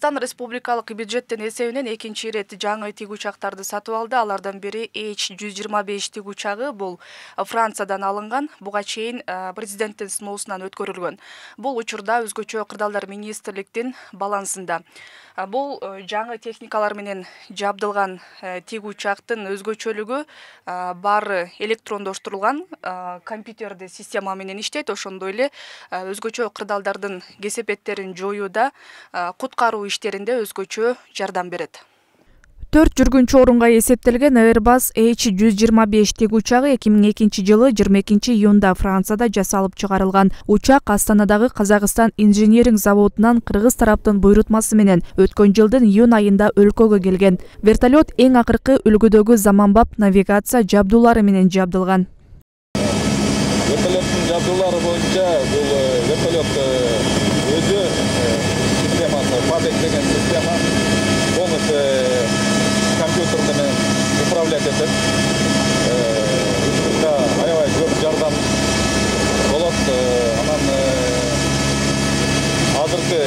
Кыргызстан республикалык бюджеттин эсебинен экинчи ирет жаңы тиг учактарды сатып алды. Алардан бири H-125 тиг учагы. Бул Франциядан алынган. Буга чейин президенттин сыноосунан өткөрүлгөн. Бул учурда өзгөчө кырдаалдар министрликтин балансында. Бул жаңы техникалар менен жабдылган тиг учактын өзгөчөлүгү баары электрондоштурулган компьютерди система менен иштейт. Ошондой эле өзгөчө кырдаалдардын кесепеттерин жоюуда, куткаруу иштеринде өзгөчө жардам берет. 4 жүргүнчү орунга эсептелген Airbus H-125 тиг учагы 2002-жылы 22-июнда Францияда жасалып чыгарылган. Учак Астанадагы Казакстан инженеринг заводунан кыргыз тараптын буйрутмасы менен өткөн жылдын июнь айында өлкөгө келген. Вертолет эң акыркы үлгүдөгү заманбап навигация жабдуулары менен жабдылган. Вертолеттин жабдуулары боюнча бул вертолет өзү системасы, Падек деген система полностью компьютер менен управлять этет. Учурда аябай көп жардам болот. Анан азыркы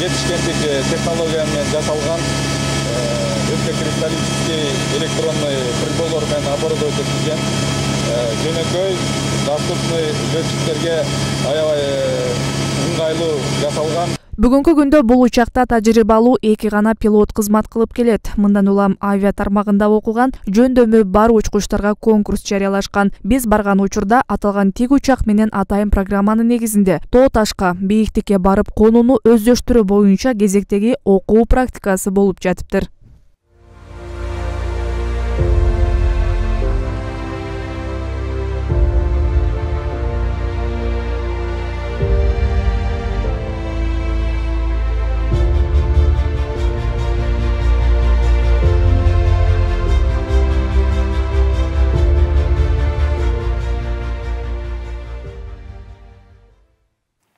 жетишкендик технология менен жасалган кристаллический электронный приборлор менен оборудовать этилген жөнөкөй доступный летчиктерге аябай ыңгайлуу жасалган. Бүгүнкү күндө бул учакта тажрыйбалуу 2 гана пилот кызмат кылып келет. Мындан улам авиа тармагында окуган жөндөмү бар учкучтарга конкурс жарыялашкан. Биз барган учурда аталган тиг учак менен атайын программанын негизинде тоо ташка бийиктикке барып конууну өздөштүрүү боюнча кезектеги окуу практикасы болуп жатыптыр.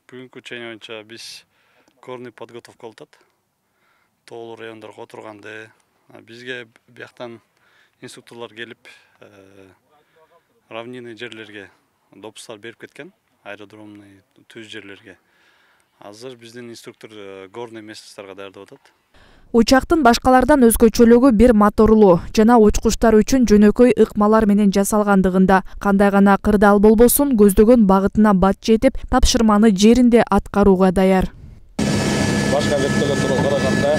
Бүгүнкү чейин боюнча биз горный подготовка болуп атат. Тоолуу райондорго отурганды бизге бияктан инструкторлор келип, равнинный жерлерге допустар берип кеткен, аэродромный түз жерлерге. Азыр биздин инструктор горный местностторго даярдап атат. Учактын башкалардан өзгөчөлүгү бир моторлуу жана учкучтар үчүн жөнөкөй ыкмалар менен жасалгандыгында. Кандай гана кырдаал болбосун, көздөгөн багытына бат жетип, тапшырманы жеринде аткарууга даяр. Башка вертолеттерге караганда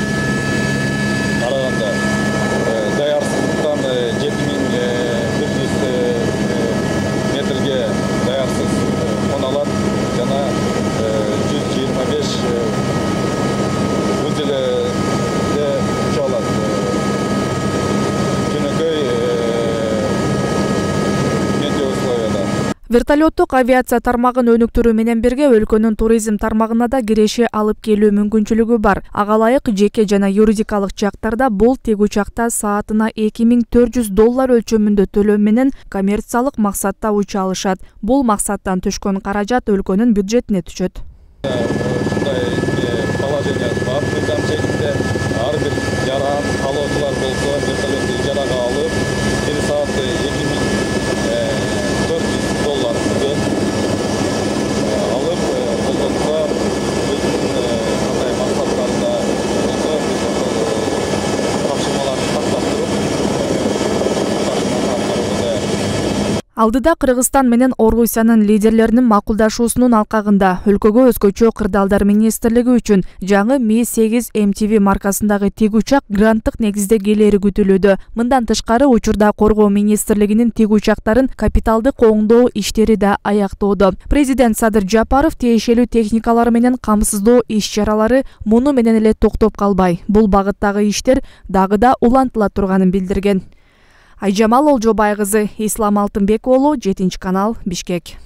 даярсыздыктан 7100 метрге даярсыз кона алат жана 125 Вертолеттук авиация тармагын өнүктүрүү менен бирге өлкөнүн туризм тармагына да киреше алып келүү мүмкүнчүлүгү бар. Ага ылайык жеке жана юридикалык жактарда бул тиг учакта саатына $2400 өлчөмүндө төлөм менен коммерциялык максатта уча алышат. Бул максаттан түшкөн каражат өлкөнүн бюджетине түшөт. Положение бар, мыйзам чегинде ар бир жаран каалоочулар болсо вертолетти ижарага алып, 1 сааты $2400 алып, колдонсо өзүнүн кандай максаттарында болсо тапшырмаларды тактап туруп Алдыда Кыргызстан менен Орусиянын лидерлеринин макулдашуусунун алкагында өлкөгө өзгөчө кырдаалдар министрлиги үчүн жаңы Mi-8 MTV маркасындагы тиг учак гранттык негизде келери күтүлүүдө. Мындан тышкары учурда Коргоо министрлигинин тиг учактарын капиталдык оңдоо иштери да аяктоодо. Президент Садыр Жапаров тиешелүү техникалар менен камсыздоо иш-чаралары муну менен эле токтоп калбай, бул багыттагы иштер дагы да улантыла турганын билдирген. Айжамал Олжобай кызы, Ислам Алтынбек уулу, 7 канал, Бишкек.